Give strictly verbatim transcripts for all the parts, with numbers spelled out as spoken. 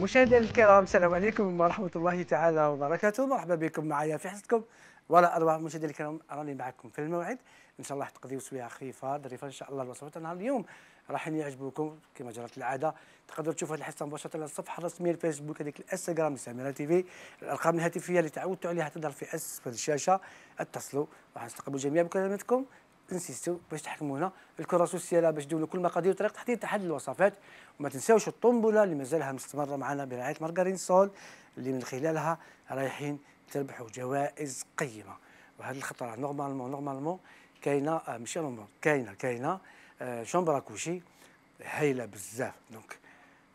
مشاهدينا الكرام، السلام عليكم ورحمة الله تعالى وبركاته. مرحبا بكم معايا في حصتكم ولا أروع. مشاهدينا الكرام، راني معكم في الموعد، إن شاء الله راح تقضيو سويعة خفيفة ظريفة إن شاء الله. الوصفات نهار اليوم راح يعجبوكم كما جرت العادة. تقدروا تشوفوا هذه الحصة مباشرة على الصفحة الرسمية الفيسبوك، هذيك الانستغرام لسميرة تيفي. الأرقام الهاتفية اللي تعودتوا عليها تظهر في أسفل الشاشة، اتصلوا راح نستقبلوا جميع مكالماتكم. انسيستو باش تحكمونا الكره سوسياله باش تدولوا كل مقادير وطريقه تحضير احد الوصفات. وما تنساوش الطنبله اللي مازالها مستمره معنا برعايه مارغرين سول، اللي من خلالها رايحين تربحوا جوائز قيمه. وهذه الخطره نورمالمون نورمالمون كاينه ماشي نورمال كاينه كاينه آه شومبرا كوشي هايله بزاف. دونك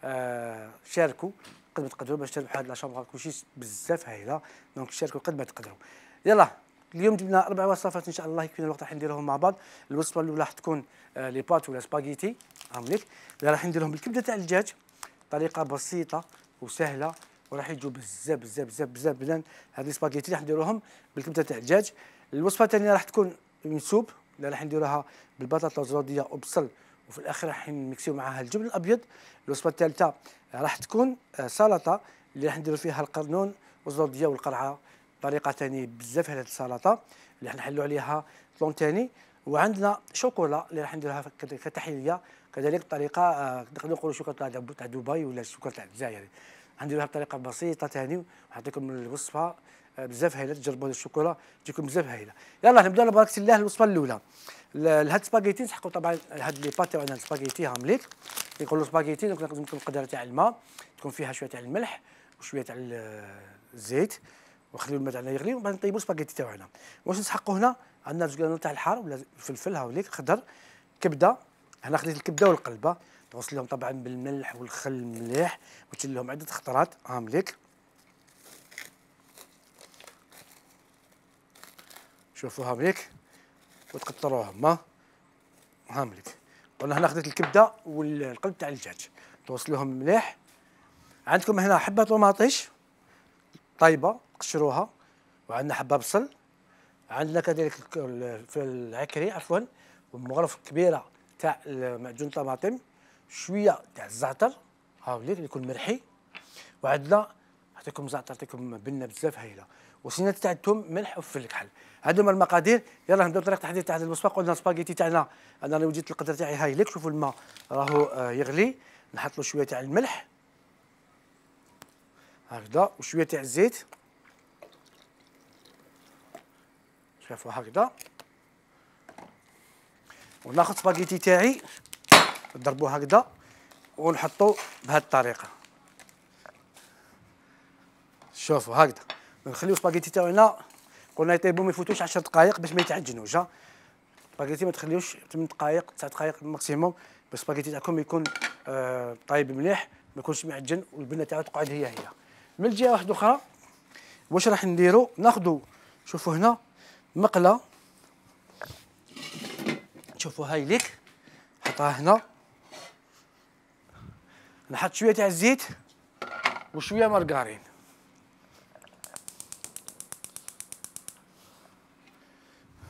آه شاركوا قد ما تقدروا باش تربحوا هذه الشومبرا كوشي بزاف هايله. دونك شاركوا قد ما تقدروا. يلا اليوم جبنا اربع وصفات ان شاء الله يكفينا الوقت راح نديرهم مع بعض. الوصفه الاولى راح تكون آه لي بات ولا سباغيتي هامليك، اللي راح نديرهم بالكبده تاع الدجاج، طريقه بسيطه وسهله وراح يجوا بزاف بزاف بزاف بزاف بلان. هذه سباغيتي راح نديروهم بالكبده تاع الدجاج. الوصفه الثانيه راح تكون من سوب اللي راح نديروها بالبطاطا الزوديه وبصل، وفي الاخر راح نمكسيو معها الجبن الابيض. الوصفه الثالثه راح تكون آه سلطه اللي راح نديروا فيها القرنون والزوديه والقرعه، طريقه ثاني بزاف هذه السلطه اللي راح نحلوا عليها طلون ثاني. وعندنا شوكولا اللي راح نديرها كتحليه كذلك بطريقه آه نقدروا نقولوا شوكولا تاع دبي ولا شوكولا تاع الجزائر، نديروها بطريقه بسيطه ثاني. ونعطيكم الوصفه آه بزاف هايله، تجربوا الشوكولا تجيكم بزاف هايله. يلا نبداو ببركه الله. الوصفه الاولى لهاد سباغيتي نسحقوا طبعا هاد لي بات تاعنا السباغيتي هامليك يقولوا سباغيتي. دونك لازم تكون قدره تاع الماء، تكون فيها شويه تاع الملح وشويه تاع الزيت، وخليو الماء تاعنا يغلي وبعد نطيبوا السباغيتي تاعنا. واش نسحقوا هنا؟ عندنا زوج قرانات تاع الحار ولا فلفل هاوليك خضر، كبده. هنا خديت الكبده والقلبه تغسلهم طبعا بالملح والخل مليح وتشيل لهم عده خطرات هامليك. شوفوا هامليك وتقطروهم هامليك. وانا هنا خديت الكبده والقلب تاع الدجاج تغسلوهم مليح. عندكم هنا حبه طوماطيش طيبه قشروها، وعندنا حبه بصل، عندنا كذلك في العكري عفوا ومغرف كبيره تاع معجون طماطم، شويه تاع الزعتر هاوليك اللي يكون مرحي، وعندنا نعطيكم زعتر نعطيكم بنه بزاف هايله، وسنات تاع الثوم ملح وفلفل كحل. هادو هما المقادير. يلا نبداو طريقه التحضير تاع هذه الوصفه. قلنا السباغيتي تاعنا انا راني وجدت القدر تاعي هايليك. شوفوا الماء راهو آه يغلي، نحط له شويه تاع الملح هكذا وشويه تاع الزيت، شوفوا هكذا. وناخذ سباغيتي تاعي نضربوه هكذا ونحطوه بهذه الطريقه. شوفوا هكذا نخليو سباغيتي تاعنا قلنا يطيبوا ما يفوتوش عشر دقائق باش ما يتعجنوش. ها سباغيتي ما تخليوش ثمان دقائق تسع دقائق ماكسيموم باش السباغيتي تاعكم يكون آه طايب مليح ما يكونش معجن والبنه تاعو تقعد هي هي. من الجهه واحده اخرى واش راح نديروا؟ ناخذوا شوفوا هنا مقله، شوفوا هاي ليك نحطها هنا، نحط شويه تاع الزيت وشويه مارغرين.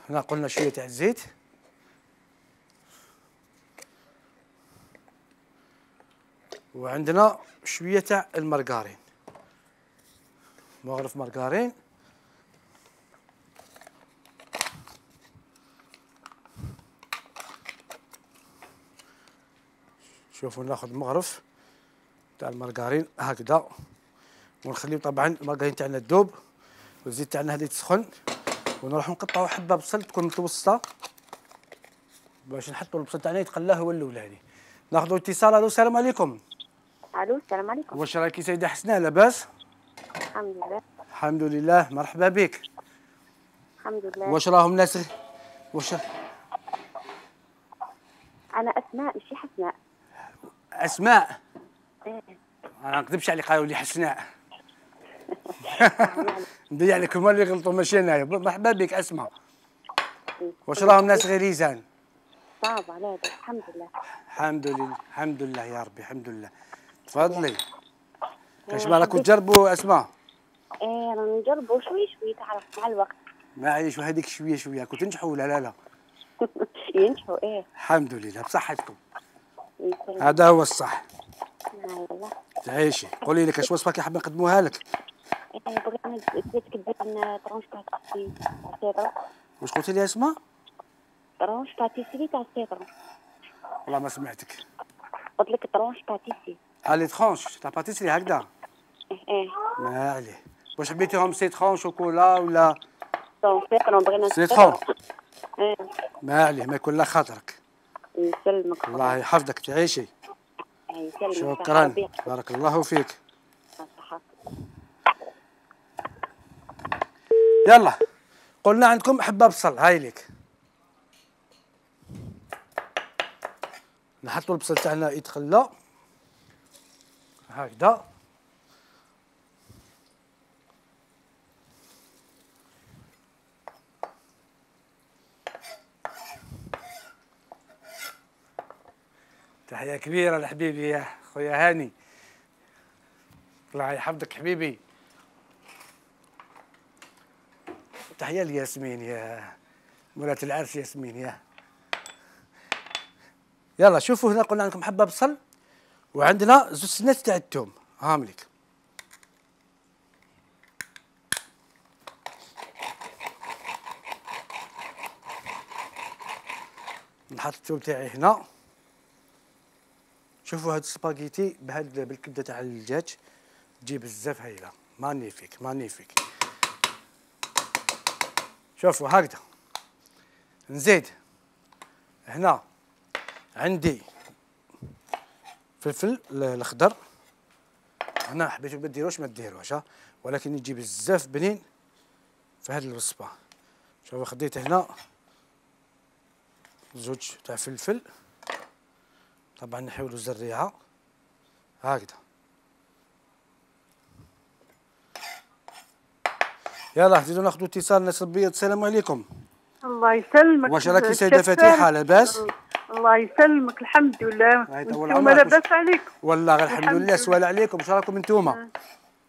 هنا قلنا شويه تاع الزيت وعندنا شويه تاع المارغرين، مغرف مارغرين. شوفوا ناخذ مغرف تاع المارغرين هكذا ونخليو طبعا المارغرين تاعنا تذوب والزيت تاعنا هذا يتسخن، ونروحو نقطعو حبه بصل تكون متوسطه باش نحطو البصل تاعنا يتقلى هو الاولاني. ناخذو اتصال. الو السلام عليكم. الو السلام عليكم. واش راكي سيده حسناء لاباس؟ الحمد لله. الحمد لله مرحبا بك. الحمد لله. واش راهم الناس واش انا اسماء ماشي حسناء. اسماء؟ ايه انا ما نكذبش عليك قالوا لي حسناء. ندير عليك هما اللي غلطوا ماشي انايا. مرحبا بك اسماء. واش راهم الناس غير يزان؟ صعب عليك. الحمد لله. الحمد لله الحمد لله يا ربي الحمد لله. تفضلي. اش راكم تجربوا اسماء؟ ايه رانا نجربوا شوي شوي تعرف مع الوقت. معليش وهذيك شويه شويه كنت تنجحوا ولا لا لا؟ ينجحوا ايه. الحمد لله بصحتكم. يسلمك. هذا هو الصح. والله. تعيشي. قولي لي كاش وصفه كي حاب نقدموها لك؟ بغينا زيت كدير لنا طرونش تاع تاع السيترون. واش قلتي لي اسمها؟ طرونش تاع تيسي تاع السيترون. والله ما سمعتك. قلت لك طرونش تاع تيسي. ها لي ترونش تاع باتيسري هكذا؟ ايه. ما عليه. واش حبيتيهم سيترون شوكولا ولا؟ سيترون بغينا سيترون. ايه. ما عليه، ما يكون لا خاطرك. يسلمك. الله يحفظك تعيشي. يسلمك. شكرا بارك الله فيك. يلا قلنا عندكم حبه بصل، هاي ليك. نحطوا البصل تاعنا يتخلى هكذا. تحية كبيرة لحبيبي يا خويا هاني، الله يحفظك حبيبي. تحية لياسمين يا مولاة العرس ياسمين يا. يلا شوفوا هنا قلنا عندكم حبة بصل وعندنا زوج سنات تاع الثوم، هاهم ليك. نحط الثوم تاعي هنا. شوفوا هاد السباغيتي بهاد بالكبده تاع الدجاج تجي بزاف هايله، مانيفيك مانيفيك. شوفوا هكذا. نزيد هنا عندي فلفل الاخضر، هنا حبيتو ما ديروش ما ديروش ها، ولكن يجي بزاف بنين في هاد الوصفه. شوفوا خديت هنا زوج تاع فلفل، طبعا نحاولوا زريعه هكذا. يلا نزيدو ناخذوا اتصال. ناس البيض، السلام عليكم. الله يسلمك. واش راكي سيده فتيحه لاباس؟ الله يسلمك الحمد لله. انتوما لاباس عليكم؟ والله غير الحمد لله. سؤال عليكم، واش راكم انتوما؟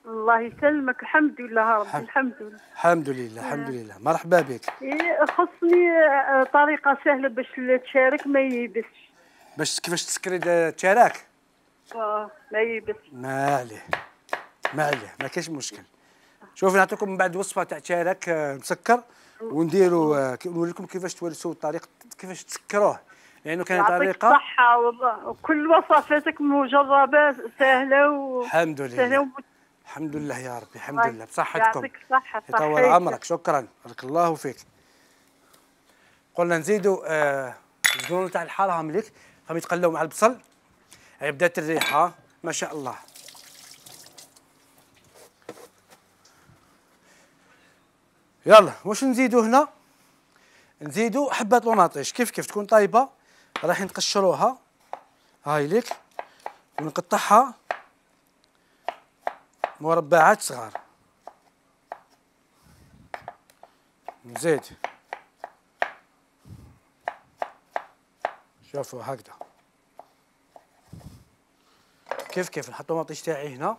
الله يسلمك الحمد لله ربي. الحمد لله الحمد لله الحمد لله. مرحبا بك. إيه خصني طريقه سهله باش تشارك ما ييبسش. باش كيفاش تسكري تشارك؟ اه ما ييبسش. ما عليه ما عليه ما كاينش مشكل. شوفي نعطيكم من بعد وصفه تاع تشارك مسكر، ونديروا نوريكم كيفاش تورثوا الطريقه كيفاش تسكروه، لانه كاين طريقه. يعطيك الصحه والله، وكل وصفاتك مجربه سهله و الحمد لله سهله الحمد لله يا ربي. الحمد لله بصحتكم. يعطيك الصحه. يطول عمرك. شكرا بارك الله فيك. قلنا نزيدوا آه الزيتون تاع الحاره مليك، راهم يتقلاو مع البصل. هي بدات الريحه ما شاء الله. يلا واش نزيدو هنا؟ نزيدو حبه طوماطيش كيف كيف تكون طايبه، راح نقشروها هاي ليك، ونقطعها مربعات صغار. نزيد شوفوا هكذا كيف كيف نحط طوماطيش تاعي هنا.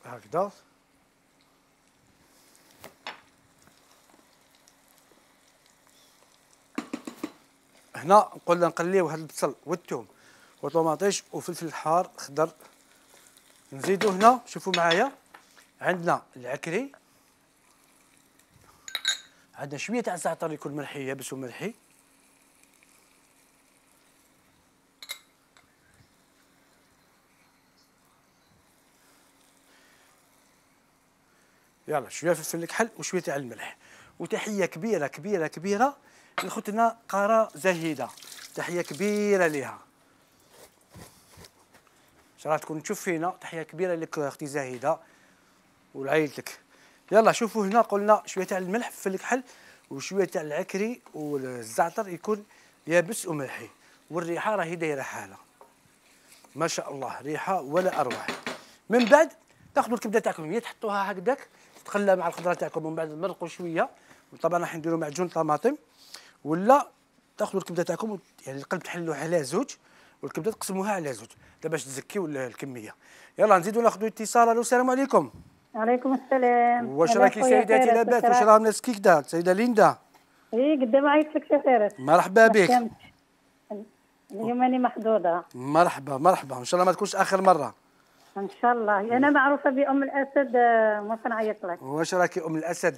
هكذا هنا قلنا نقليو هاد البصل والثوم والطوماطيش وفلفل حار خضر. نزيدو هنا شوفوا معايا عندنا العكري، عندنا شويه تاع الزعتر يكون ملحي يابس وملحي، يلا شويه فلفل الكحل وشويه تاع الملح. وتحيه كبيره كبيره كبيره لخوتنا قاره زهيده، تحيه كبيره ليها. ان شاء الله تكون تشوف فينا. تحيه كبيره لك اختي زهيده ولعائلتك. يلا شوفوا هنا قلنا شويه تاع الملح في الكحل وشويه تاع العكري والزعتر يكون يابس وملحي، والريحه راهي دايره حاله ما شاء الله، ريحه ولا اروع. من بعد تاخذوا الكبده تاعكم هي تحطوها هكذاك تتخلى مع الخضره تاعكم، ومن بعد تمرقوا شويه. وطبعا راح نديروا معجون طماطم، ولا تاخذوا الكبده تاعكم يعني القلب تحلوه على زوج والكبده تقسموها على زوج باش تزكيوا الكميه. يلا نزيدوا ناخذوا اتصال. الو السلام عليكم. وعليكم السلام. واش راكي سيداتي لاباس؟ واش راهم الناس كي كدا؟ سيده ليندا ايه قدام عيط لك سفارة. مرحبا بك. اليوم أنا محظوظة. مرحبا مرحبا، ان شاء الله ما تكونش اخر مره. ان شاء الله. انا معروفة بأم الأسد، آه، ما نعيط لك. واش راكي ام الاسد؟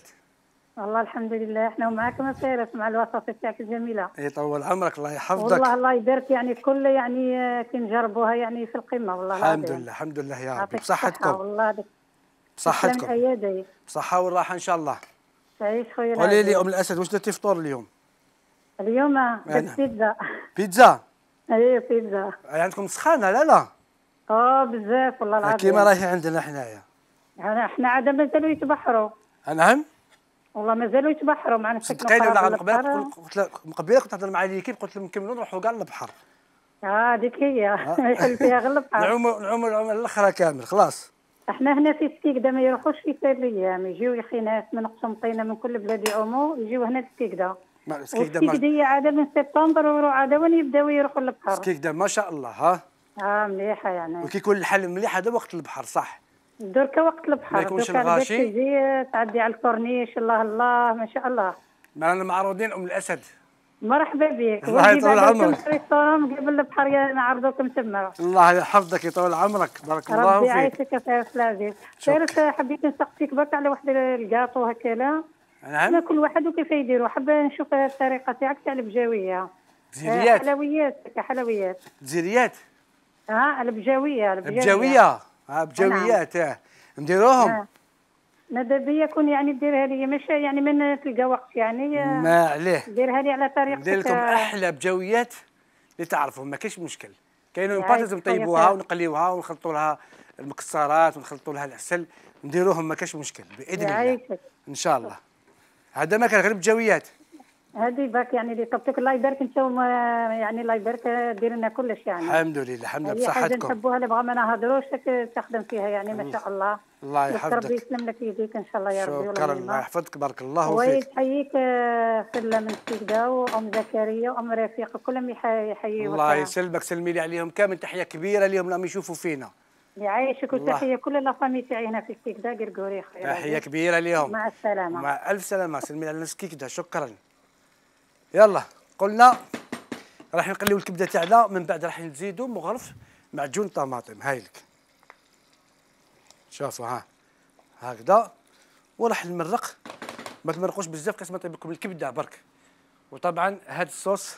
والله الحمد لله احنا ومعاكم سيرة مع الوصفة تاعك الجميلة. يطول عمرك الله يحفظك. والله الله يبارك، يعني كل يعني آه، كي نجربوها يعني في القمة والله الحمد العظيم. لله الحمد لله يا ربي. يعطيك الصحة بصحتكم. والله دك. بصحتكم. ايادي. بصحة والراحة ان شاء الله. تعيش خويا. قولي لي ام الاسد، واش درتي فطور اليوم؟ اليوم درت بيتزا. بيتزا؟ ايه بيتزا. عندكم سخانة؟ لا لا. اه بزاف والله العظيم. كيما راهي عندنا حنايا. يعني احنا عاد مازالوا يتبحروا. نعم؟ والله مازالوا يتبحروا معنا. صدقيني ولا من قبل قلت لك من قبل كنت نهضر مع ليكيب، قلت لهم نكملوا نروحوا كاع للبحر. اه هذيك هي ما يحل فيها غير البحر. نعوموا نعوموا العومه الاخرى كامل خلاص. احنا هنا في ستيكدا ما يروحوش في سريام، يجيو يا اخي ناس من قسنطينه من كل بلاد يعوموا يجيو هنا لستيكدا. ستيكدا عاده من سبتمبر ويروح عاده وين يبداو يروحوا للبحر. ستيكدا ما شاء الله. ها اه مليحه يعني. وكي يكون الحل مليح هذا وقت البحر صح؟ دركا وقت البحر. ما يكونش الغاشي. تجي تعدي على الكورنيش الله الله ما شاء الله. معنا معروضين ام الاسد. مرحبا بك. الله يطول عمرك. ريستورون قبل البحر نعرضوكم تما. الله يحفظك يطول عمرك بارك الله فيك. ربي يعيشك يا فارس العزيز. فارس حبيت نسقسيك برك على واحد الكاطو هكذا. نعم. كل واحد وكيف يديروا، حابه نشوف الطريقه تاعك تاع البجاويه. زيريات. حلويات كحلويات. زيريات. اه البجاويه البجاويه. البجاويه اه بجاويات اه نديروهم. آه. ماذا بيا يكون يعني ديرها لي مش يعني من تلقى وقت يعني. ما عليه. ديرها لي على طريقتك. ندير لكم احلى بجاويات اللي تعرفوا ما كاينش مشكل. كاينين بات لازم نطيبوها ونقليوها ونخلطوا لها المكسرات ونخلطوا لها العسل نديروهم ما كاينش مشكل باذن الله. ان شاء الله. هذا ما كان غير بجاويات. هذه باك يعني اللي طبتك الله يبارك انتم يعني الله يبارك دير لنا كلش يعني. الحمد لله الحمد لله بصحتكم. حاجه نحبوها اللي بغا ما نهضروش تخدم فيها يعني ما شاء الله. الله يحفظك. ربي يسلم لك يديك ان شاء الله يا ربي. شكرا الله يحفظك بارك الله فيك. ويحييك سله من ستيكدا وام زكريا وام رفيق كلهم يحييوك. الله يسلمك سلمي لي عليهم كامل تحيه كبيره اليوم راهم يشوفوا فينا. يعيشك وتحيه كل لافامي تاعي هنا في ستيكدا قرقوري خير. تحيه كبيره اليوم. مع السلامه. مع الف سلامه سلمي على ستيكدا شكرا. يلا قلنا راح نقليو الكبده تاعنا من بعد راح نزيدو مغرف معجون طماطم هايلك. شوفوا ها هكذا وراح نمرق ما تمرقوش بزاف كاش ما طيب لكم الكبده برك. وطبعا هاد الصوص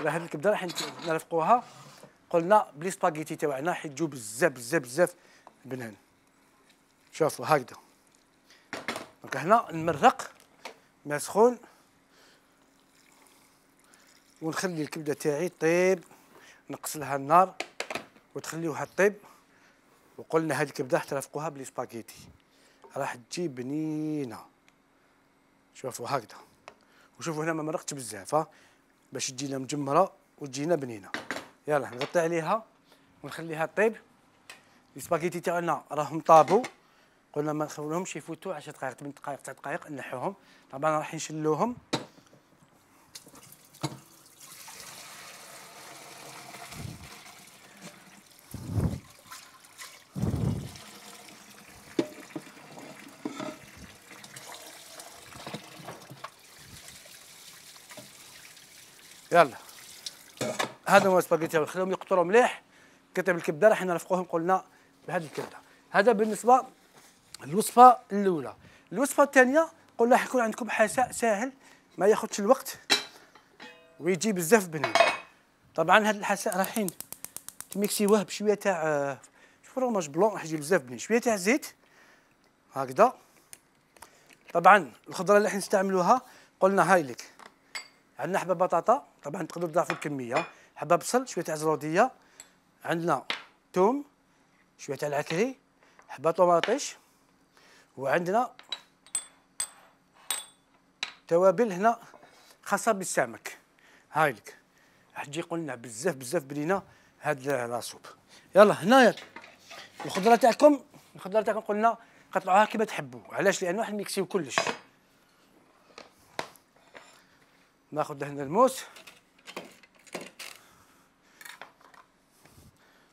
ولا هاد الكبده راح نرفقوها قلنا بلي سباغيتي تاعنا راح تجو بزاف بزاف بزاف بنان. شوفوا هكذا دونك هنا نمرق ما سخون ونخلي الكبده تاعي طيب نقص لها النار وتخليوها طيب. وقلنا هذه الكبده راح ترافقوها بلي سباغيتي راح تجي بنينه. شوفوا هكذا وشوفوا هنا ما مرقتش بزاف ها باش تجينا مجمره وتجينا بنينه. يلا نغطي عليها ونخليها طيب. السباغيتي تاعنا راهم طابوا قلنا ما نخليهمش يفوتوا عشر دقائق ثمان دقائق تسع دقائق نحوهم. طبعا راح نشلوهم يلا. هذا هو السباغيتي نخليهم يقطروا مليح. كتب الكبده راح نرفقوهم قلنا بهذه الكبده. هذا بالنسبه للوصفه الاولى. الوصفه الثانيه قلنا راح يكون عندكم حساء ساهل ما ياخذش الوقت ويجي بزاف بنين. طبعا هذا الحساء رايحين تميكسيوه بشويه تاع فروماج بلون راح يجي بزاف بنين. شويه تاع زيت هكذا. طبعا الخضره اللي راح نستعملوها قلنا هاي لك عندنا حبه بطاطا طبعا تقدروا تضاعفوا الكميه. حبه بصل شويه تاع زروديه. عندنا ثوم شويه تاع العكري حبه طوماطيش. وعندنا توابل هنا خاصه بالسمك هاي لك راح تجي قلنا بزاف بزاف بنينه هاد لاصوب. يلا هنايا الخضره تاعكم الخضره تاعكم قلنا قطعوها كيما تحبوا. علاش؟ لانه راح نميكسيو كلش. ناخذ هنا الموس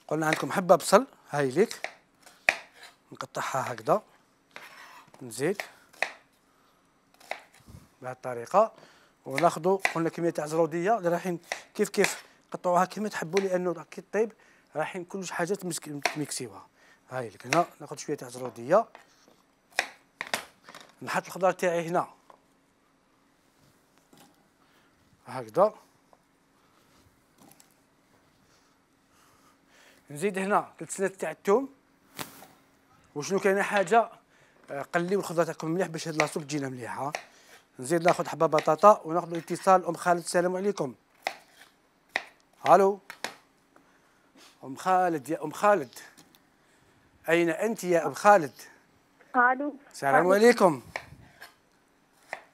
قلنا عندكم حبه بصل هاي ليك نقطعها هكذا نزيد بهذه الطريقه. وناخذوا قلنا كميه تاع زروديه اللي رايحين كيف كيف قطعوها كيما تحبوا لانه كي طيب رايحين كل حاجه تميكسيوها. هاي لك هنا ناخذ شويه تاع زروديه، نحط الخضار تاعي هنا هكذا، نزيد هنا ثلاث سنات تاع الثوم. وشنو كاينه حاجه قليو الخضره تاعكم مليح باش هاد لاصوب تجينا مليحه. نزيد ناخذ حبه بطاطا وناخذ اتصال. ام خالد السلام عليكم. الو ام خالد، يا ام خالد اين انت يا ام خالد؟ الو السلام عليكم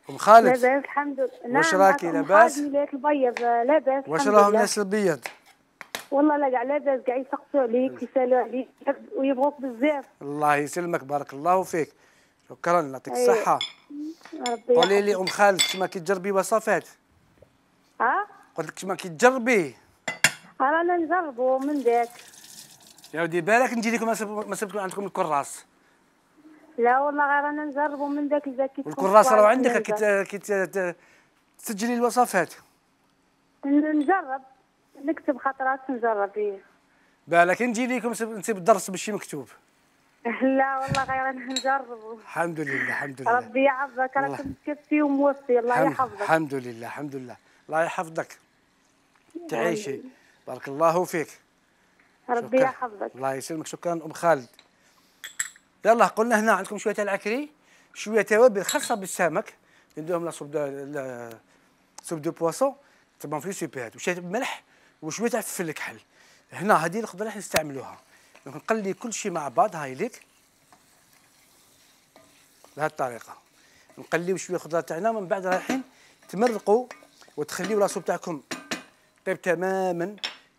ام خالد. لاباس الحمد لله. واش راكي لاباس؟ ميلاد البيض لاباس. واش راهم الناس البيض؟ والله لا كاع لاباس، كاع يسقسوا عليك يسالوا عليك ويبغوك بزاف. الله يسلمك بارك الله فيك. شكرا يعطيك أيه. الصحة. ربي قولي لي ام خالد كيما كتجربي وصفات؟ ها؟ قلت لك كيما كتجربي؟ رانا نجربوا من ذاك. يا ودي بالك نجي لكم ما سبتكم عندكم الكراس. لا والله غير رانا نجربوا من ذاك اذا كي الكراس راه عندك كي تسجلي الوصفات. نجرب نكتب خطرات نجرب فيه. بالك نجي لكم نسيب الدرس بالشي مكتوب. لا والله غير نجربوا. الحمد لله الحمد لله. ربي يحفظك، راك مكفي وموفي. الله يحفظك. الحمد لله الحمد لله. الله يحفظك تعيشي. بارك الله فيك. ربي يحفظك. الله يسلمك. شكرا ام خالد. يلا قلنا هنا عندكم شويه تاع العكري، شويه توابل خاصه بالسمك نديرهم لا سوب دو سوب دو بواسون طبعا في سوبيات وشويه ملح وشويه تاع فلفل كحل. هنا هذه الخضره راح نستعملوها. نقلي كل شيء مع بعض. هاي ليك بهذه الطريقه نقليو شويه خضره تاعنا، من بعد رايحين تمرقوا وتخليو لاصوب تاعكم طيب تماما.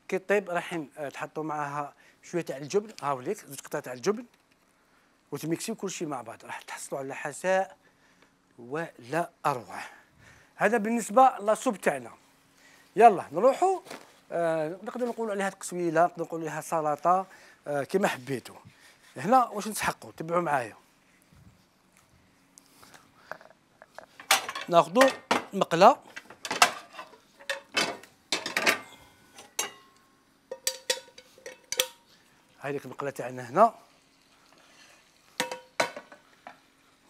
كي طيب رايحين تحطوا معاها شويه تاع الجبن. هاو ليك زوج قطع تاع الجبن وتميكسيو كل شيء مع بعض، راح تحصلوا على حساء ولا اروع. هذا بالنسبه لاصوب تاعنا. يلا نروحوا آه نقدر نقولوا عليها تقسويله، نقدر نقولوا عليها سلطه، آه كما حبيتوا. هنا واش نسحقوا؟ تبعوا معايا. ناخذوا مقله هاي ديك المقله تاعنا هنا،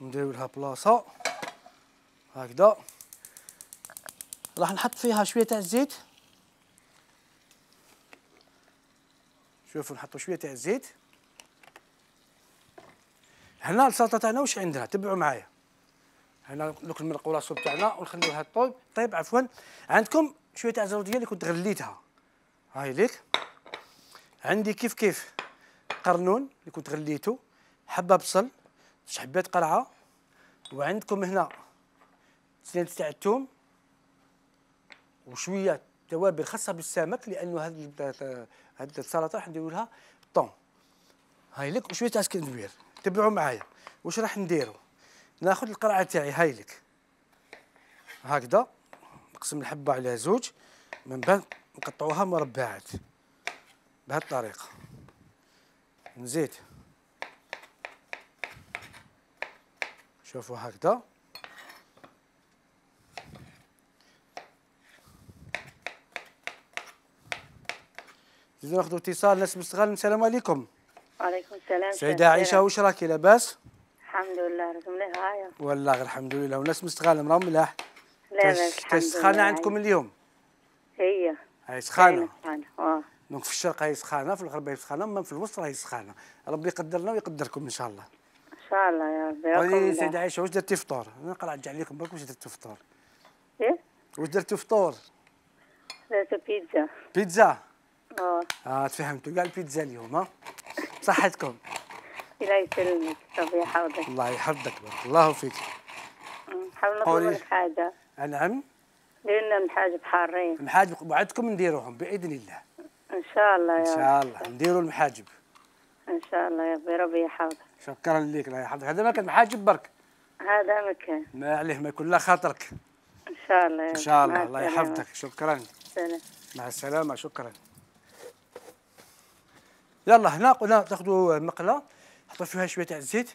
نديرو لها بلاصه هكذا. راح نحط فيها شويه تاع الزيت. شوفوا نحطوا شويه تاع الزيت. هنا السلطه تاعنا واش عندنا؟ تبعوا معايا. هنا دوك المرق والصوب تاعنا ونخليوها طيب طيب عفوا. عندكم شويه تاع زروديه اللي كنت غليتها. هاي ليك. عندي كيف كيف قرنون اللي كنت غليته، حبه بصل، حبات قرعه، وعندكم هنا سنات تاع الثوم وشويه توابل خاصه بالسمك لانه هذه هذه السلطه راح نديروا لها طون. هاي لك وشويه تاع سكندوير. تبعوا معايا واش راح نديروا. ناخذ القرعه تاعي هاي لك هكذا، نقسم الحبه على زوج، من بعد نقطعوها مربعات بهذه الطريقه. نزيد شوفوا هكذا. نزيدو ناخذ اتصال. ناس مستغل. السلام عليكم. وعليكم السلام. سيدة عائشة واش راكي لاباس؟ الحمد لله راكم مليح هايا. والله غير الحمد لله. وناس مستغل راهم ملاح. لاباس الحمد لله. سخانة عندكم اليوم؟ هي هاي سخانة. اه دونك في الشرق هاي سخانة، في الغرب هاي سخانة، اما في الوسط راهي سخانة. ربي يقدرنا ويقدركم ان شاء الله. ان شاء الله يا ربي. قولي سيدة عائشة واش درتي فطور؟ انا نقرا نرجع لكم برك واش درتي فطور؟ ايه؟ واش درتي فطور؟ درت بيتزا. بيتزا؟ اه اه تفهمتوا كاع البيتزا اليوم ها؟ صحتكم. الله يسلمك ربي يحفظك. الله يحفظك بارك الله فيك. نحاول نطلب لك حاجة. نعم. دير لنا المحاجب حارين. المحاجب وعدتكم نديروهم باذن الله. ان شاء الله يا ان شاء الله نديروا المحاجب. ان شاء الله يا ربي ربي يحفظك. شكرا لك الله يحفظك. هذا ما كان محاجب برك. هذا مكان. ما عليه ما يكون لا خاطرك. ان شاء الله يا ان شاء الله. الله يحفظك. شكرا. سلام. مع السلامة. شكرا. يلا هنا قلنا تاخذوا مقله حطوا فيها شويه تاع الزيت،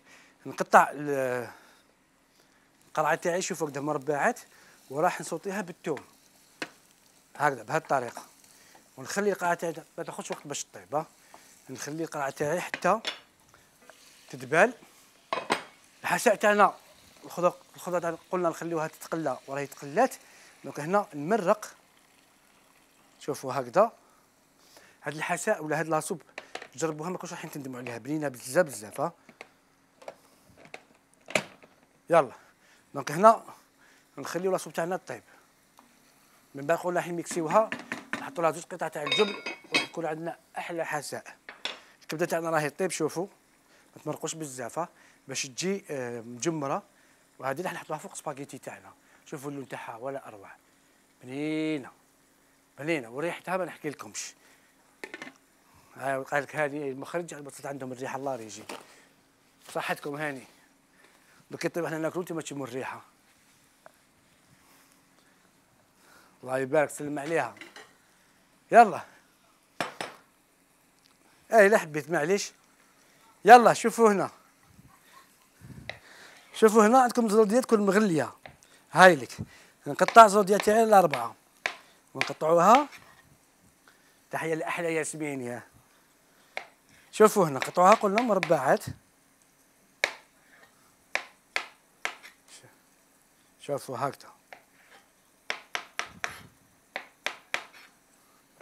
نقطع القرعه تاعي شوفوا هكذا مربعات وراح نسوطيها بالثوم هكذا بهذه الطريقه، ونخلي القرعه تاعي ما تاخذش وقت باش تطيب. ها نخلي القرعه تاعي حتى تدبال. الحساء تاعنا الخضر الخضره تاعنا قلنا نخليوها تتقلى وراهي تقلات. دونك هنا نمرق، شوفوا هكذا. هاد الحساء ولا هاد لاصوب جربوها ما كنتش رايحين تندموا عليها، بنينه بزاف بزاف. ها يلا دونك هنا نخليو لاصوب تاعنا طيب. من بعد نقول رايحين ميكسيوها، نحطوا لها زوج قطع تاع الجبن وراح يكون عندنا احلى حساء. الكبده تاعنا راهي طيب، شوفوا ما تمرقوش بزاف باش تجي مجمره. وهذه راح نحطوها فوق سباغيتي تاعنا. شوفوا اللون تاعها ولا اروع، بنينه بنينه وريحتها ما نحكي لكمش. ها قال لك هذه المخرج بطلت عندهم الريحه الله يجي صحتكم هاني. دوك يطيب احنا ناكلو انتما تشموا الريحه. الله يبارك سلم عليها. يلا اي لا حبيت معليش. يلا شوفوا هنا، شوفوا هنا عندكم زروديات تكون مغليه. هاي لك نقطع زروديات تاعي الاربعه ونقطعوها. تحيه لاحلى ياسمين. يا شوفوا هنا قطعوها قلنا مربعات. شوفوا هكذا.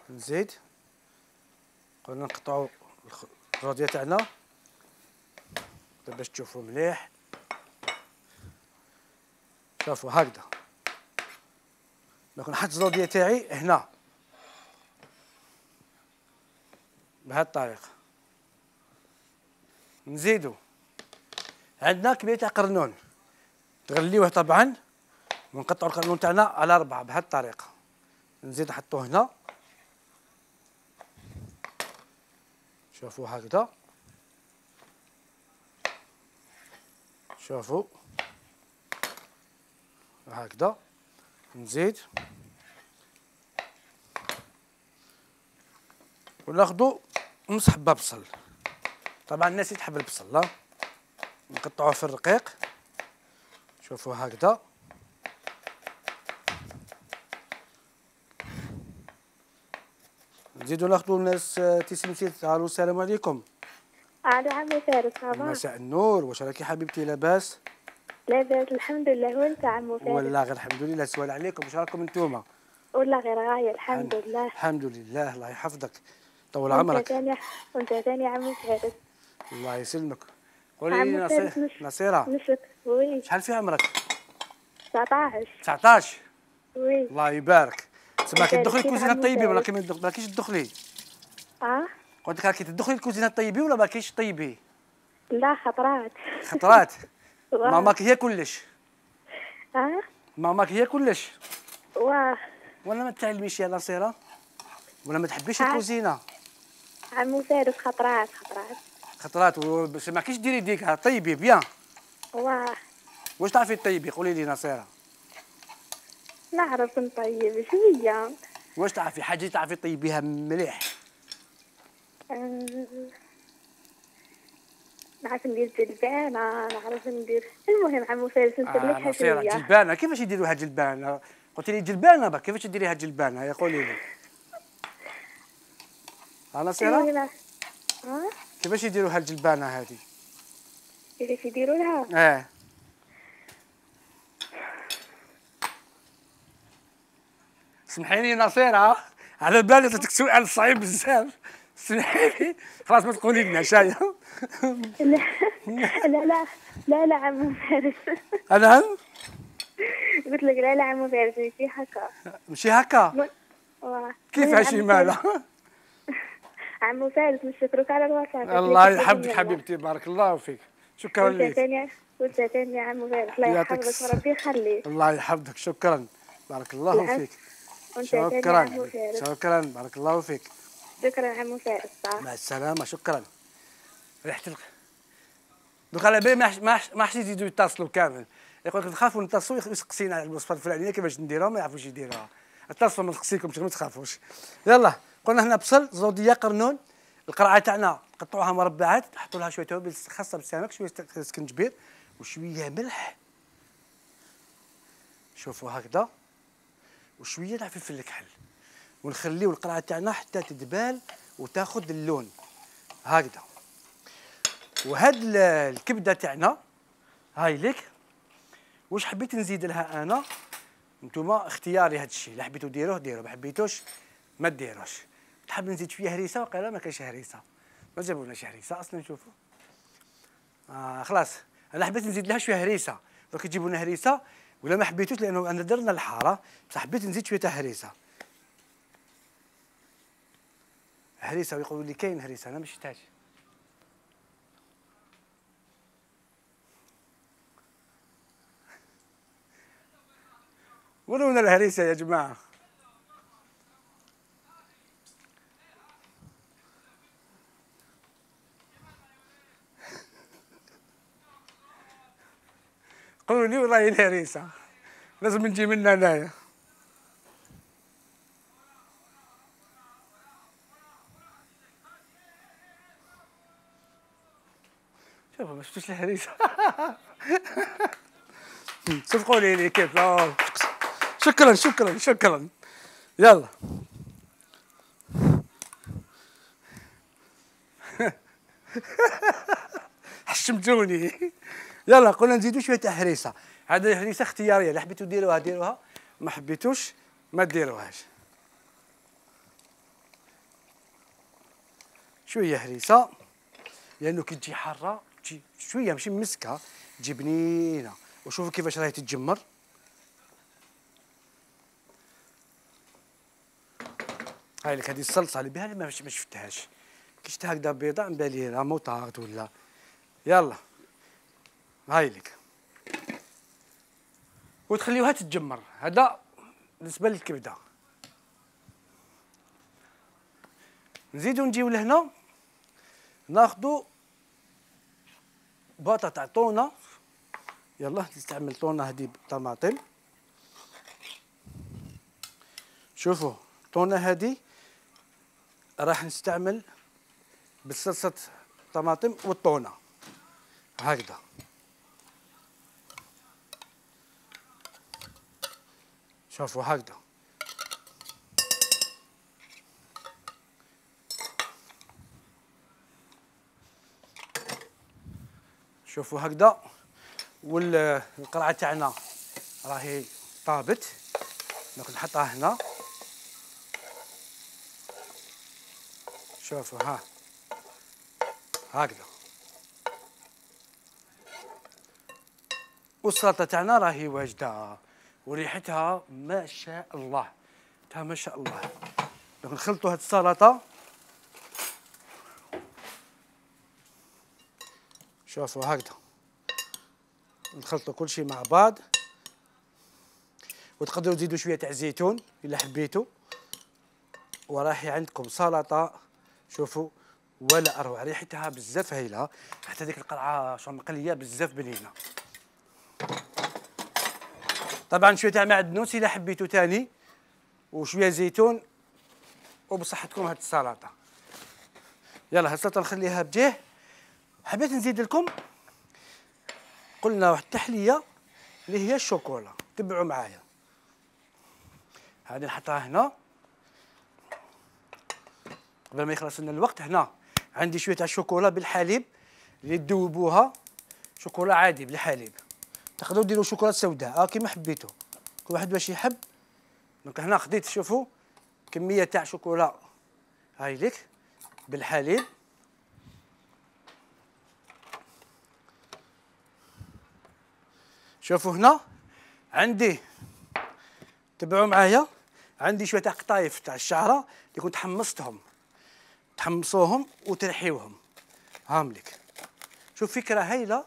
نزيد قلنا نقطعوا الزروديه تاعنا باش تشوفوا مليح. شوفوا هكذا. دونك نحط الزروديه تاعي هنا بهذه الطريقه. نزيدو عندنا كميه تاع قرنون تغليوه طبعا، ونقطعوا القرنون تاعنا على اربعه بهذه الطريقه. نزيد نحطوه هنا. شوفوا هكذا. شوفوا هكذا. نزيد وناخذوا نص حبه بصل. طبعا الناس تحب البصل. لا نقطعوه في الرقيق. شوفوا هكذا. نزيدو ناخذوا الناس تيسمتي. الو السلام عليكم. الو عمي فارس. مساء النور، واش راكي حبيبتي لاباس؟ لاباس الحمد لله، وانت عمو فارس؟ والله غير الحمد لله. سؤال عليكم، واش راكم انتوما؟ والله غير غايه الحمد لله. الحمد لله الله يحفظك طول عمرك. ثاني وانت ثاني عمو فارس. الله يسلمك. قولي لي نصيرة نصيرة نشك. وي شحال في عمرك؟ تسعطاش. تسعطاش. وي الله يبارك. تسمى كتدخلي الكوزينه الطيبين ولا ما كاينش تدخلي؟ اه قلت لك راكي تدخلي الكوزينه الطيبين ولا ما كاينش طيبي؟ لا خطرات. خطرات. ماماك هي كلش. اه ماماك هي كلش. واه ولا ما تعلميش يا نصيرة؟ ولا ما تحبيش الكوزينه؟ عمو فارس خطرات خطرات خطرات. باش ما كاينش ديري ديكها طيبي بيان. واه واش تعرفي طيبي؟ قولي لي نصيرة. نعرف نطيب شويه. واش تعرفي حاجه تعرفي طيبيها مليح؟ أه... نعرف ندير جلبانه، نعرف ندير. المهم عمو فارس نسلكها آه شويه. جلبانه. كيفاش يديروها جلبانه؟ قلت لي جلبانه بك، كيفاش تديريها جلبانه؟ يا قولي لي. ها نصيرة؟ اه كيفاش يديروها الجلبانه هذه؟ كيفاش يديروا لها؟ اه سمحي لي نصيرة، على بالي عطيتك سؤال صعيب بزاف. سمحي لي خلاص ما تقولي لنا شاي. لا لا لا لا لا عمو فارس. انا قلت لك لا لا عمو فارس ماشي هكا. ماشي هكا؟ كيفاش مالها؟ عمو فارس نشكرك على الوصفة. الله يحفظك حبيبتي، بارك الله فيك. شكرا لك. وانت ثاني وانت ثاني يا عمو فارس. الله يحفظك وربي يخليك. الله يحفظك. شكرا بارك الله فيك. شكرا شكرا بارك الله فيك. شكرا عمو فارس. مع السلامة. شكرا. ريحة الق دوك على بالي ما ما حسيت يزيدوا يتصلوا كامل. يقول لك نخافوا نتصلوا يسقسينا على الوصفة الفلانية كيفاش نديروها ما يعرفوش يديروها. اتصلوا ما نسقسيكمش ما تخافوش. يلا قلنا هنا بصل زودية قرنون. القرعة تاعنا قطعوها مربعات، حطوا لها شوية توابل خاصة بالسمك، شوية سكنجبير وشوية ملح. شوفوا هكذا، وشويه تاع فلفل الكحل، ونخليو القرعه تاعنا حتى تدبال وتاخذ اللون هكذا. وهاد الكبده تاعنا هاي لك. واش حبيت نزيد لها انا؟ نتوما اختياري هاد الشيء، الا حبيتو ديروه ديروه، ما حبيتوش ما ديروش. تحب نزيد شويه هريسه وقيلا ما كاينش هريسه، ما جابولناش هريسه اصلا. نشوفوا آه خلاص، انا حبيت نزيد لها شويه هريسه، دوك يجيبوا لنا هريسه ولا ما حبيتوش لانه انا درنا الحاره، بصح حبيت نزيد شويه تاع هريسه. هريسه ويقولوا لي كاين هريسه، انا ما شفتهاش. ورونا الهريسه يا جماعه. قولوا لي والله الهريسه لازم نجي منها هنايا. شوفوا ما شفتوش الهريسه. صفقوا لي كيف. شكرا شكرا شكرا. يلا حشمتوني. يلا قلنا نزيدو شويه تاع هريسه. هذه الهريسه اختياريه، اللي حبيتو ديروها ديروها، ما حبيتوش ما ديروهاش. شويه هريسه لانه كي تجي حاره تجي شويه ماشي مسكه، تجي بنينه. وشوفوا كيفاش راهي تتجمر. هاي لك هذه الصلصه اللي بها ما شفتهاش، كي شفتها هكذا بيضاء من بالي راه موطاغ ولا. يلا هاي لك وتخليوها تتجمر. هذا بالنسبه للكبده. نزيدو نجيو لهنا ناخذوا باطه تاع طونه. يلا نستعمل طونه هذه بالطماطم. شوفوا الطونه هذه راح نستعمل بالصلصه طماطم والطونه هكذا. شوفوا هكذا. شوفوا هكذا. والقرعه تاعنا راهي طابت، دونك نحطها هنا. شوفوا ها هكذا. والسلطه تاعنا راهي واجده وريحتها ما شاء الله، تا ما شاء الله. دونك نخلطوا هاد السلطه. شوفوا هكذا، نخلطوا كل شيء مع بعض. وتقدروا تزيدوا شويه تاع زيتون الا حبيتوا. وراهي عندكم سلطه شوفوا ولا اروع، ريحتها بزاف هايله، حتى ديك القرعه شو مقليه بزاف بنينه. طبعا شويه تاع معدنوس الا حبيتوا تاني، وشويه زيتون، وبصحتكم هاد السلطه. يلا هاد السلطه نخليها بجيه. حبيت نزيد لكم قلنا واحد التحليه اللي هي الشوكولا، تبعوا معايا. هذه نحطها هنا قبل ما يخلص لنا الوقت. هنا عندي شويه تاع الشوكولا بالحليب اللي تذوبوها، شوكولا عادي بالحليب. تقدروا ديروا شوكولا سوداء اه كيما حبيتوا، كل واحد واش يحب. دونك هنا خديت شوفوا كميه تاع شوكولا هاي لك بالحليب. شوفوا هنا عندي، تبعوا معايا، عندي شويه تاع قطايف تاع الشعره اللي كنت حمصتهم، تحمصوهم وترحيوهم هام لك. شوف فكره هايله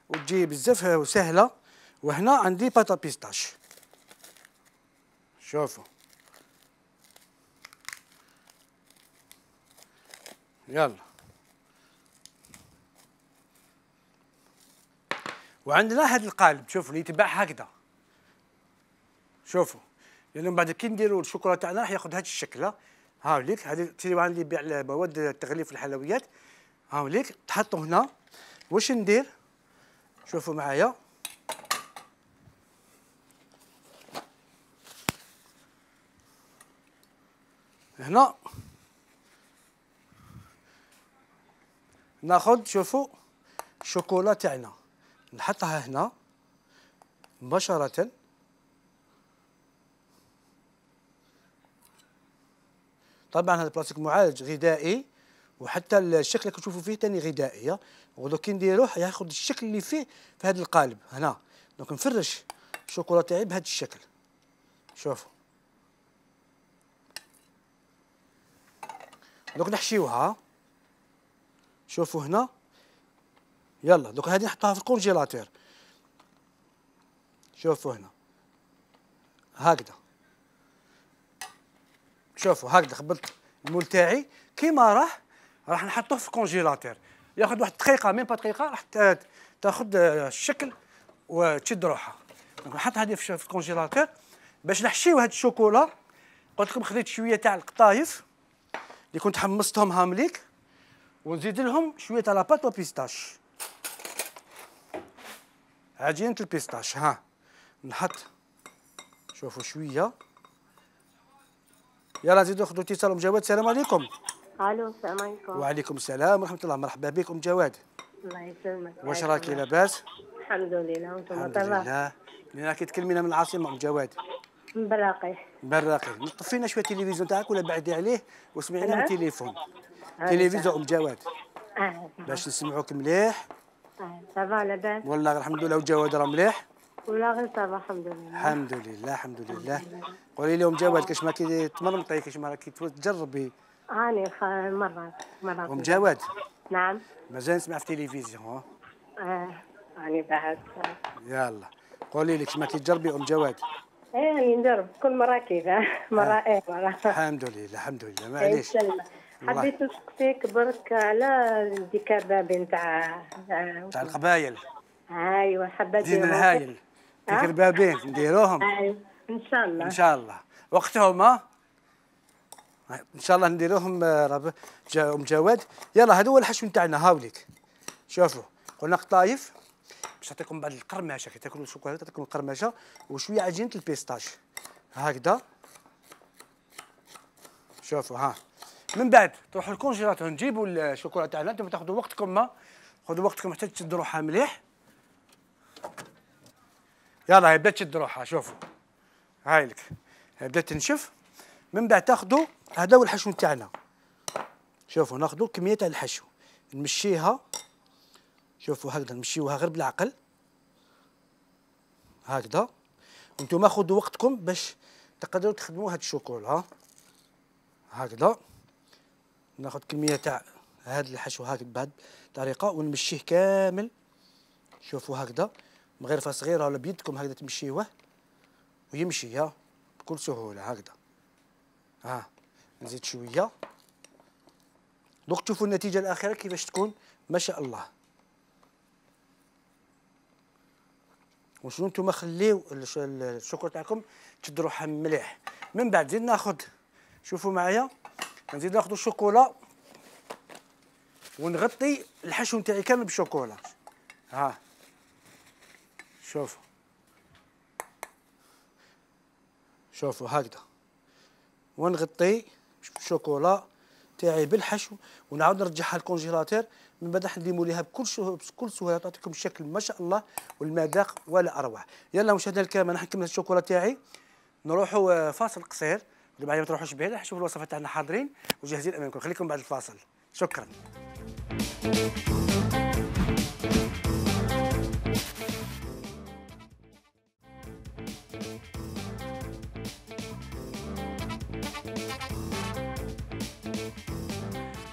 وتجي بزاف وسهله. وهنا عندي باتا بيستاش. شوفوا يلا. وعندنا هذا القالب شوفوا اللي يتباع هكذا. شوفوا لانه بعد كي نديروا الشوكولا تاعنا راح ياخذ هذا الشكل. ها ليك هذه التيوان اللي يبيع مواد التغليف الحلويات. ها ليك تحطوا هنا. واش ندير؟ شوفوا معايا. هنا ناخذ شوفوا الشوكولا تاعنا نحطها هنا مباشرة. طبعا هذا البلاستيك معالج غذائي، وحتى الشكل اللي كتشوفوا فيه ثاني غذائي. ودو كي نديروه ياخذ الشكل اللي فيه في هذا القالب هنا. دونك نفرش الشوكولا تاعي بهذا الشكل. شوفوا دوك نحشيوها. شوفوا هنا. يلا دوك هذه نحطها في الكونجيلاتور. شوفوا هنا هكذا. شوفوا هكذا خبلت المول تاعي كيما راح راح نحطوه في الكونجيلاتور. ياخذ واحد دقيقه ميم با دقيقه راح تاخذ الشكل وتشد روحها. دونك نحط هذه في الكونجيلاتور باش نحشيو هاد الشوكولا. قلت لكم خديت شويه تاع القطايف اللي كنت حمصتهم هامليك، ونزيد لهم شويه تاع لاباط وبيستاش، عجينه البيستاش. ها نحط شوفوا شويه. يلا نزيدو ناخذوا اتصال. ام جواد السلام عليكم. الو السلام عليكم. وعليكم السلام ورحمه الله. مرحبا بك ام جواد. الله يسلمك. واش راكي لاباس؟ الحمد لله وانتم الحمد طيبين؟ لله. منين راكي تكلمينا من العاصمه ام جواد؟ من براقي. براقي. نطفينا شويه التلفزيون تاعك ولا بعدي عليه واسمعينا من نعم. التليفون. آه، تلفزيون ام جواد اه باش نسمعوك مليح. اه صافا لاباس؟ والله الحمد لله. وجواد راه مليح ولا غير صافا الحمد لله. الحمد لله الحمد لله. قولي لهم جواد كاش ما كي تمرمطي كاش ما راكي تجربي. هاني خ- مرات مرات. ام جواد نعم. مازال نسمع في التلفزيون. ها اه هاني بعد. يلا قولي لي كاش ما كي تجربي ام جواد. ايه هاني ندرب كل مرة كذا مرة ايه مرة. الحمد لله الحمد لله. معليش يسلمك. حبيت نسقسيك برك على ديك البابين تاع تاع القبايل. ايوا حبيت زين الهايل تيك البابين نديروهم ايوا ان شاء الله ان شاء الله وقتهم. ها ان شاء الله نديروهم. رب جا ام جواد. يلا هذا هو الحشو نتاعنا. هاوليك شوفوا قلنا قطايف باش نعطيكم بعد القرمشه. كي تاكلوا الشوكولاته تعطيكم القرمشه وشويه عجينه البيستاش هكذا. شوفوا ها من بعد تروحوا الكونجيلاتور نجيبوا الشوكولاته تاعنا. انتم تاخذوا وقتكم. ما خذوا وقتكم حتى تشد روحها مليح. يلا هي بدات تشد روحها. شوفوا هاي لك هي بدات تنشف. من بعد تاخذوا هذا هو الحشو تاعنا. شوفوا ناخذوا كميه تاع الحشو نمشيها. شوفوا هكذا نمشيوها غير بالعقل هكذا. وانتم خذوا وقتكم باش تقدروا تخدموا هاد الشوكولا. ها هكذا ناخذ كميه تاع هذا الحشو هكذا بهذه الطريقه ونمشيه كامل. شوفوا هكذا مغرفه صغيره ولا بيدكم هكذا تمشيوه ويمشي ها بكل سهوله هكذا. ها نزيد شويه. دوك تشوفوا النتيجه الاخيره كيفاش تكون ما شاء الله. وشنو نتوما خليو الشوكولا تاعكم تشد روحها مليح. من بعد نزيد ناخذ شوفوا معايا نزيد ناخذ الشوكولا ونغطي الحشو نتاعي كامل بالشوكولا. ها شوفوا شوفوا هكذا ونغطي الشوكولا تاعي بالحشو ونعاود نرجعها للكونجيلاتور. من بعد راح نديموا ليها بكل شو بكل سهوله تعطيكم الشكل ما شاء الله والمذاق ولا اروع. يلا مشاهدينا الكرام انا نكمل الشوكولا تاعي. نروحوا فاصل قصير بعد ما تروحوش بعيد. راح نشوفوا الوصفات تاعنا حاضرين وجاهزين امامكم. خليكم بعد الفاصل. شكرا.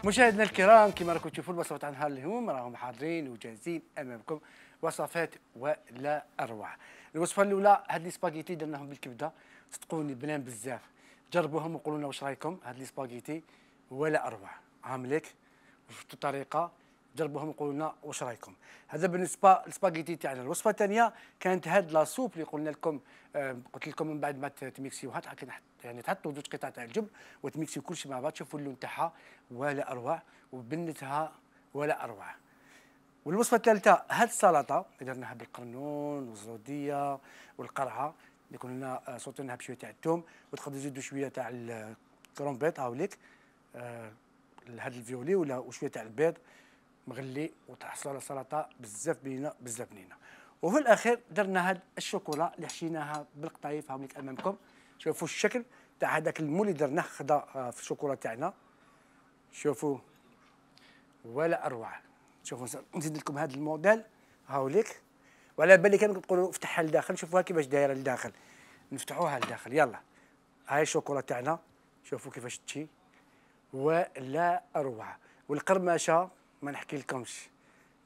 مشاهدينا الكرام كما راكم تشوفوا الوصفات عن نهار اليوم راهم حاضرين وجاهزين امامكم. وصفات ولا اروع. الوصفه الاولى هاد لي سباغيتي درناهم بالكبده صدقوني بنان بزاف. جربوهم وقولوا لنا واش رايكم. هاد لي سباغيتي ولا اروع. عامليك وشفتوا الطريقه جربوهم وقولوا لنا واش رايكم. هذا بالنسبه للسباغيتي تاعنا. الوصفه الثانيه كانت هاد لا سوب اللي قلنا لكم. آه قلت لكم من بعد ما تميكسيوها يعني تحطوا زوج قطع تاع الجبن وتميكسيو كل شيء مع بعض. شوفوا اللون تاعها ولا اروع وبنتها ولا اروع. والوصفه الثالثه هاد السلطه اللي درناها بالقرنون والزوديه والقرعه اللي كنا صوتناها بشويه تاع الثوم وتقدروا تزيدوا شويه تاع كرومبيط هاوليك آه هذا الفيولي ولا وشويه تاع البيض مغلي وتحصل على سلطه بزاف بنينه بزاف بنينه. وفي الاخير درنا هاد الشوكولا اللي حشيناها بالقطايف هاوليك امامكم. شوفوا الشكل تاع هذاك المول اللي درناه خدا في الشوكولا تاعنا. شوفوا ولا اروع. شوفوا نزيد لكم هذا الموديل هاوليك وعلى بالي كان تقولوا افتحها لداخل. شوفوها كيفاش دايره لداخل. نفتحوها لداخل يلا. هاي الشوكولا تاعنا شوفوا كيفاش تجي ولا اروع. والقرمشه ما نحكي لكمش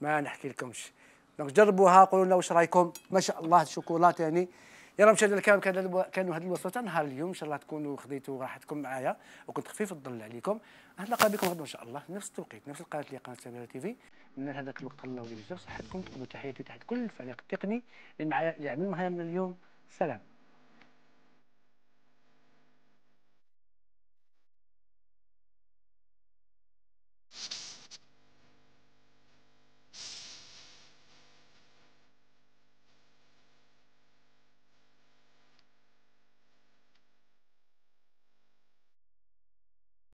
ما نحكي لكمش. دونك جربوها قولوا لنا واش رايكم. ما شاء الله الشوكولا ثاني. يلا مشاهدينا الكرام كانوا هذه الوصفات نهار اليوم ان شاء الله تكونوا خذيتوا راحتكم معايا وكنت خفيف الظل عليكم. نتلاقى بكم غدا ان شاء الله نفس التوقيت نفس القناه اللي قناه سميرة تي في. من هذاك الوقت الله يجزاكم صحتكم. تقبلوا تحياتي تحت كل الفريق التقني اللي معايا اللي عمل معايا من اليوم. سلام.